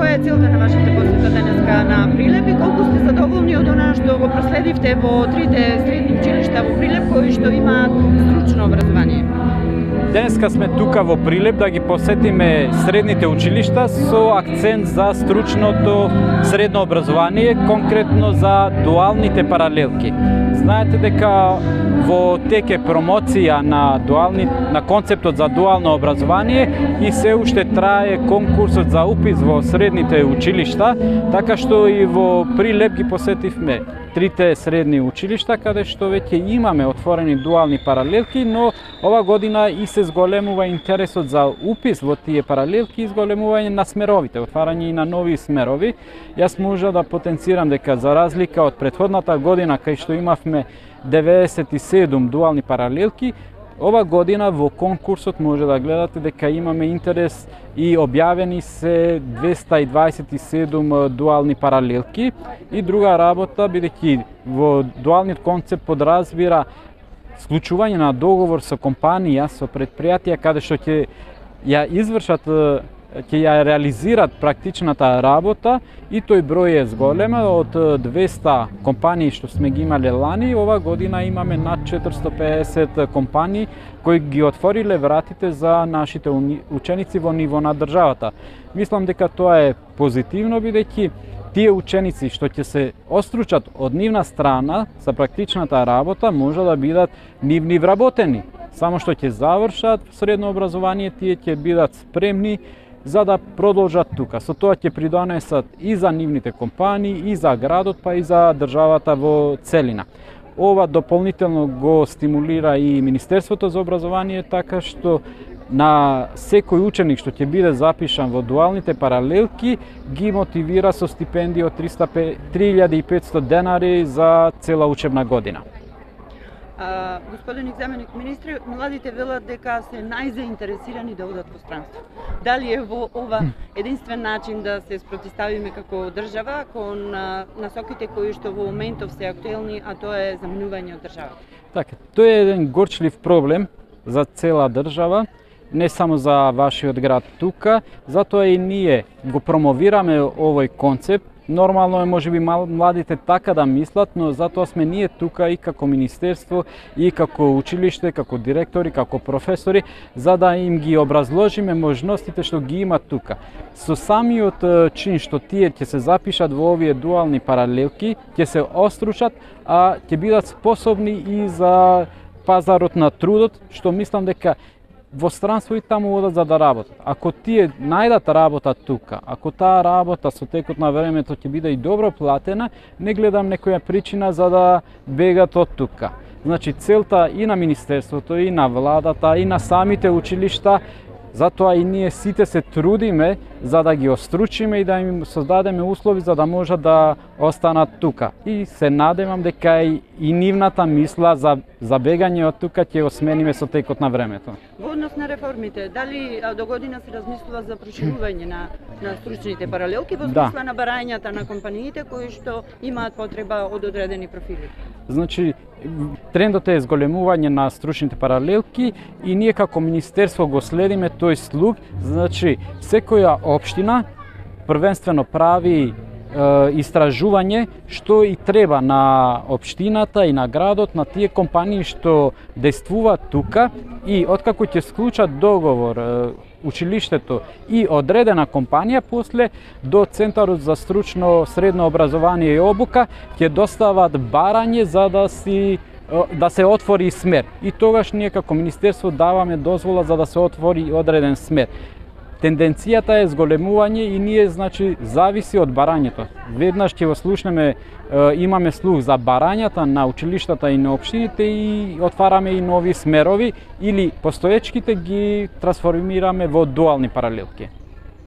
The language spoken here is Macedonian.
која е целта на вашата посета денеска на Прилеп и колку сте задоволни од она што го проследивте во трите средни училишта во Прилеп кои што имаат стручно образование? Денеска сме тука во Прилеп да ги посетиме средните училишта со акцент за стручното средно образование, конкретно за дуалните паралелки. Знаете дека во тек е промоција на концептот за дуално образование и се уште трае конкурсот за упис во средните училишта, така што и во Прилеп ги посетивме трите средни училишта, каде што веќе имаме отворени дуални паралелки, но ова година и се зголемува интересот за упис во тие паралелки и зголемување на смеровите, отварање и на нови смерови. Јас можам да потенцирам дека за разлика од претходната година кај што имавме 97 дуални паралелки, ова година во конкурсот може да гледате дека имаме интерес и објавени се 227 дуални паралелки. И друга работа, бидејќи во дуалниот концепт подразбира склучување на договор со компанија, со предпријатија каде што ќе ја извршат, ќе ја реализират практичната работа и тој број е зголема. Од 200 компании што сме ги имале лани, ова година имаме над 450 компании кои ги отвориле вратите за нашите ученици во ниво на државата. Мислам дека тоа е позитивно, бидејќи тие ученици што ќе се остручат од нивна страна за практичната работа може да бидат нивни вработени. Само што ќе завршат средно образование, тие ќе бидат спремни за да продолжат тука. Со тоа ќе придонесат и за нивните компании, и за градот, па и за државата во целина. Ова дополнително го стимулира и Министерството за образование, така што на секој ученик што ќе биде запишан во дуалните паралелки ги мотивира со стипендија од 3500 денари за цела учебна година. Господин заменик министри, младите велат дека се најзаинтересирани да одат во странство. Дали е во ова единствен начин да се спротиставиме како држава кон насоките кои што во моментов се актуелни, а тоа е заминување од државата? Така, тоа е еден горчлив проблем за цела држава, не само за вашиот град тука, затоа и ние го промовираме овој концепт. Нормално е можеби младите така да мислат, но затоа сме ние тука и како министерство, и како училиште, како директори, како професори, за да им ги образложиме можностите што ги имат тука. Со самиот чин што тие ќе се запишат во овие дуални паралелки, ќе се остручат, а ќе бидат способни и за пазарот на трудот, што мислам дека во странство и таму одат за да работат. Ако тие најдат работа тука, ако таа работа со текот на времето ќе биде и добро платена, не гледам некоја причина за да бегат од тука. Значи целта и на министерството, и на владата, и на самите училишта, затоа и ние сите се трудиме за да ги остручиме и да им создадеме услови за да можат да останат тука. И се надевам дека и нивната мисла за бегање од тука ќе го смениме со текот на времето. Во однос на реформите, дали до година се размислува за проширување на стручните паралелки во смисла на барањата на компаниите кои што имаат потреба од одредени профили? Значи, трендот е зголемување на стручните паралелки и ние како министерство го следиме тој слуг. Значи, секоја општина првенствено прави истражување што и треба на општината и на градот, на тие компании што действуваат тука и откако ќе склучат договор училиштето и одредена компанија, после до Центарот за стручно средно образование и обука ќе достават барање за да се отвори смер. И тогаш ние како министерство даваме дозвола за да се отвори одреден смер. Тенденцијата е зголемување и ние, значи, зависи од барањето. Веднаш ќе го слушнеме, имаме слух за барањата на училиштата и на општините и отвараме и нови смерови или постоечките ги трансформираме во дуални паралелки.